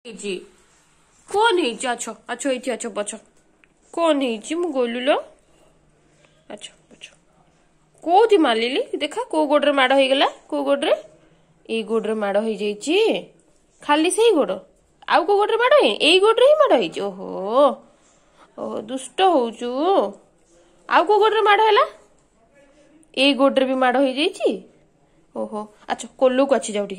ହେଇଛି? କଣ ହେଇଛି? ଆଛ ଆଛ, ଏଇଠି ଆଛ, ପଛ। କଣ ହେଇଛି? ମୁଁ ଗଲୁଲୋ। ଆଛ ପଛ। କୋଉଠି ମାରିଲି ଦେଖା? କୋଉ ଗୋଡରେ ମାଡ ହେଇଗଲା? କୋଉ ଗୋଡରେ? ଏଇ ଗୋଡରେ ମାଡ ହେଇଯାଇଛି। ଖାଲି ସେଇ ଗୋଡ? ଆଉ କୋଉ ଗୋଡରେ ମାଡ ହେଇନି? ଏଇ ଗୋଡରେ ହିଁ ମାଡ ହେଇଛି। ଓହୋ ଓହୋ, ଦୁଷ୍ଟ ହଉଛୁ। ଆଉ କୋଉ ଗୋଡରେ ମାଡ ହେଲା? ଏଇ ଗୋଡରେ ବି ମାଡ ହେଇଯାଇଛି। ଓହୋ, ଆଚ୍ଛା, କୋଲକୁ ଅଛି, ଯାଉ ଟିକେ।